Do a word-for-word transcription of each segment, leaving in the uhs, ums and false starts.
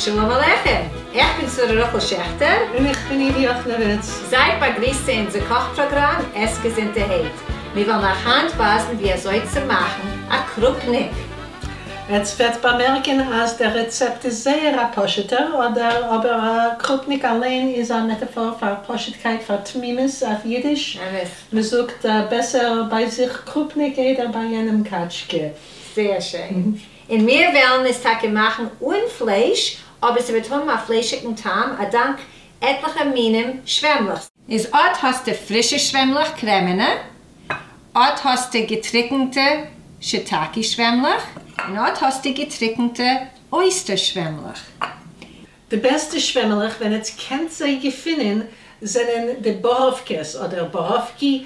שלום עליכם, איך בין שרה רחל שעכטער. און איך בין איבי יאכנאוויץ. זייט באגריסט צו אונזער קאך פראגראם עס געזונטערהייט. מיר וועלן אייך היינט ווייזן ווי אזוי צו מאכן א קרופניק. עטס וועט באמערקן אז דער רעצעפט איז זייער א פשוט'ער, אדער אבער א קרופניק אליין איז א מעטאפאר פאר פשוט'קייט, פאר תמימות אויף אידיש. אמת. מ'זאגט בעסער ביי זיך קרופניק איידער ביי יענעם קאטשקע. זייער שיין. און מיר וועלן עס טאקע מאכן אן פלייש, אבער ס'וועט האבן א פליישיגן טעם אדאנק עטליכע מינים שוועמלעך. איז אט האסטו פרישע שוועמלעך קרעמענע, אט האסטו געטריקנטע שיטאקי שוועמלעך, און אט האסטו געטריקנטע אויסטער שוועמלעך. די בעסטע שוועמעלעך ווען עטס קענט זיי געפינען זענען די באראווקעס אדער באראווקי,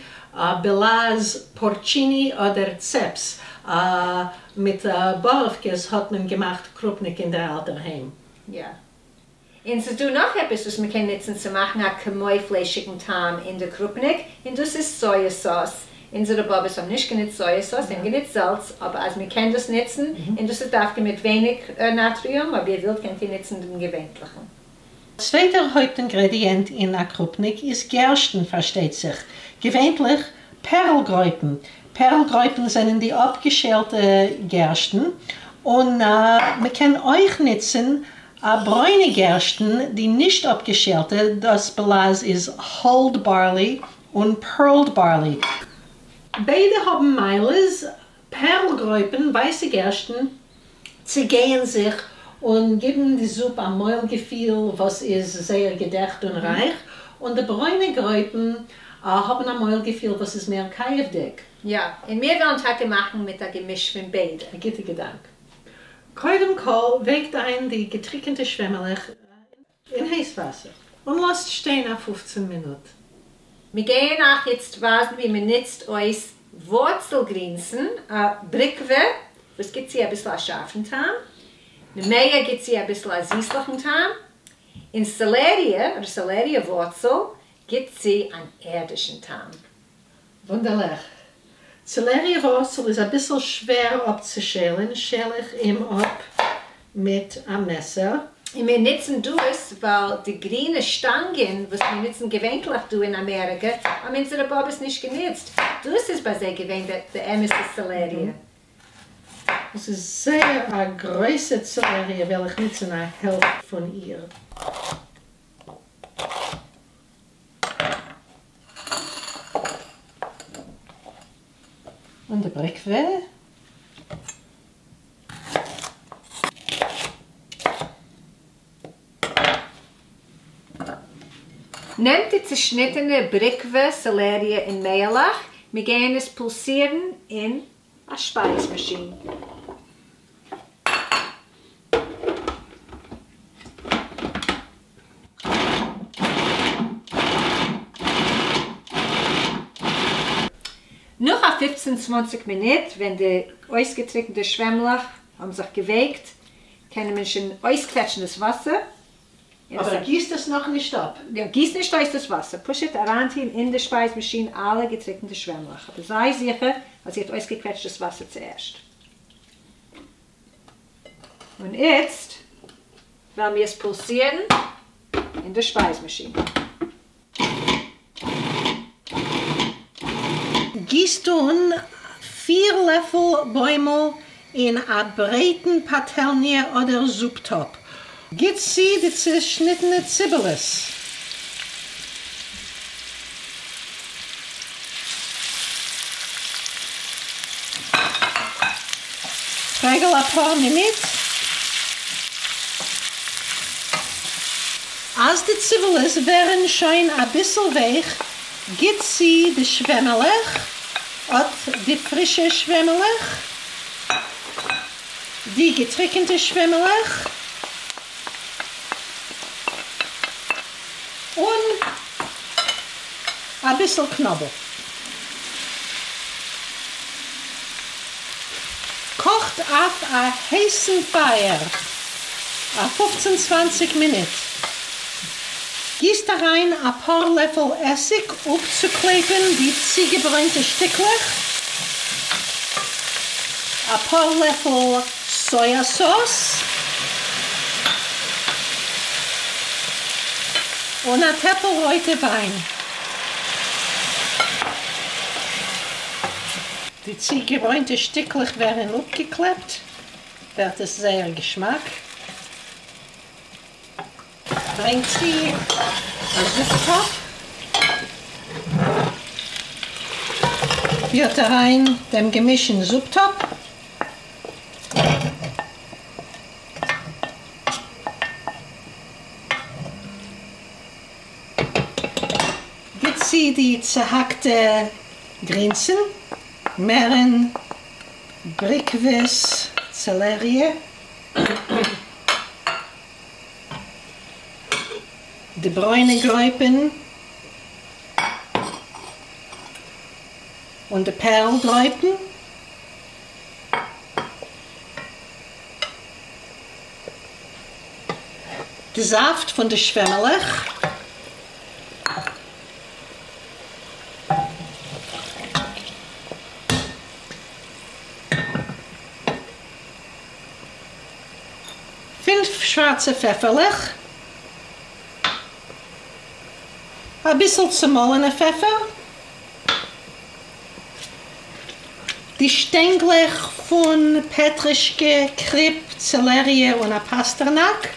בלעז פארטשיני אדער צעפס, מיט באראווקעס האט מען געמאכט קרופניק אין דער אלטער היים. יא. און ס'איז דא נאך עפעס וואס מ'קען נוצן צו מאכן א כמו פליישיגן טעם אין די קרופניק, און דאס איז סויע סאוס. אונזערע באבעס האבן נישט גענוצט סויע סאוס, זיי האבן גענוצט זאלץ, אבער אז מ'קען דאס נוצן, און דאס איז דווקא מיט ווייניג נאטריום, אויב איר ווילט קענט איר נוצן דעם געווענטליכן. צווייטער הויפט אינגרעדיענט אין א קרופניק איז גערשטן, פארשטייט זיך, געווענטליך פערל-גרויפן. פערל-גרויפן זענען די אפגעשעלטע גערשטן, און מ'קען אויך נוצן ברוינע גערשטן, די נישט אפגעשעלטע, דאס בלעז איז hulled barley און pearled barley. ביידע האבן מעלות, פערל-גרויפן, ווייסע גערשטן, צעגייען זיך און גיבן די זופ א מויל געפיל וואס איז זייער געדעכט און רייך, און די ברוינע גרויפן האבן א מויל געפיל וואס איז מער קייעוודיג. יא, און מיר וועלן טאקע מאכן מיט א געמיש פון ביידע. א גוטע געדאנק. קודם כל ווייקט איין די געטריקענטע שוועמעלעך אין הייס וואסער און לאזט שטיין א פופצן מינוט. מיר גייען אייך איצט ווייזן ווי מען נוצט אויס ווארצל-גרינסן, א בריקווע וואס גיט צו אביסל א שארפן טעם, נמיה גיט צו אביסל א זיסליכן טעם, און סעלעריע, אדער סעלעריע ווארצל, גיט צו אן ערדישן טעם. וואונדערליך. סעלעריע ווארצל איז אביסל שווער אפצושיילן, שעל איך אים אפ מיט א מעסער. און מיר נוצן דאס ווייל די גרינע שטאנגען וואס מיר נוצן געווענטליך דא אין אמעריקע האבן אונזערע באבעס נישט גענוצט, דאס איז ביי זיי געווען די אמת'ע סעלעריע. דאס איז זייער א גרויסע סעלעריע, וועל איך נוצן א העלפט פון איר. און די בריקווע. נעמט די צעשניטענע בריקווע, סעלעריע און מעהלעך, מיר גייען עס פולסירן אין א שפייז מאשין. נאך א פופצן צוואנציג מינוט ווען די אויסגעטריקנטע שוועמלעך האבן זיך געווייקט, קען מען שוין אויסקוועטשן דאס וואסער. אבער גיסט עס נאך נישט אפ. יא, גיסט נישט אויס דאס וואסער, פשוט אריינטוהן אין די שפייז מאשין אלע געטריקנטע שוועמלעך, אבער זיי זיכער אז איר האט אויסגעקוועטשט דאס וואסער צוערשט. און איצט וועלן מיר עס פולסירן אין די שפייז מאשין. גיסט אן פיר לעפל בוימל אין א ברייטן פאטעלניע אדער זופ טאפ. גיט צו די צעשניטענע ציבעלעס. פרעגל אפאר מינוט. אז די ציבעלעס ווערן שוין אביסל ווייך, גיט צו די שוועמעלעך, אט די פרישע שוועמעלעך, די געטריקענטע שוועמעלעך, און אביסל קנאבל. קאכט אויף א הייסן פייער א פופצן צוואנציג מינוט. גיסט אריין אפאר לעפל עסיג אפצוקלעפן די צוגעברוינטע שטיקלעך, אפאר לעפל סויא סאוס, און א טעפל רויטע וויין. די צוגעברוינטע שטיקלעך ווערן אפגעקלעפט, ווערט עס זייער געשמאק. ברענגט צו א זופ-טאפ, פירט אריין דעם געמיש אין זופ-טאפ. גיט צו די צעהאקטע גרינסן, מערן, בריקוועס, צעלעריע, די ברוינע גרויפן און די פערל גרויפן. די זאפט פון די שוועמעלעך. פינף שווארצע פעפערלעך. אביסל צומאלענע פעפער. די שטענגלעך פון פעטרישקע, קריפ, צעלעריע און א פאסטערנאק.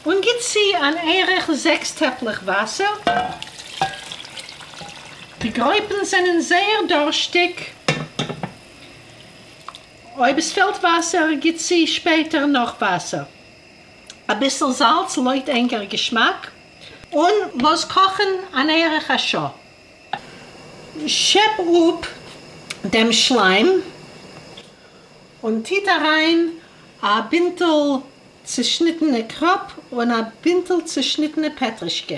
און גיט צו אן ערך זעקס טעפלעך וואסער. די גרויפן זענען זייער דארשטיג. אויב עס פעלט וואסער, גיט צו שפעטער נאך וואסער. אביסל זאלץ לויט ענקער געשמאק. און לאז קאכן אן ערך א שעה. שעפ אפ דעם שליים און טוט אריין א בינטל צעשניטענע קראפ און א בינטל צעשניטענע פעטרישקע.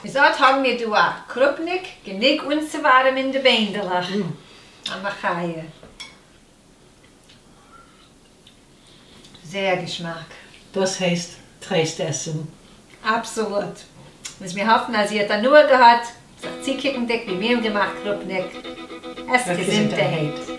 איז אט האבן מיר דא א קרופניק, גענוג אנצואווארעמען די ביינדעלעך. א מחיה. זייער געשמאק. דאס הייסט טרייסט עסן. אבסאלוט. איז מיר האפן אז איר האט הנאה געהאט זיך צוקוקנדיג ווי מיר האבן געמאכט קרופניק. עסט געזונטערהייט.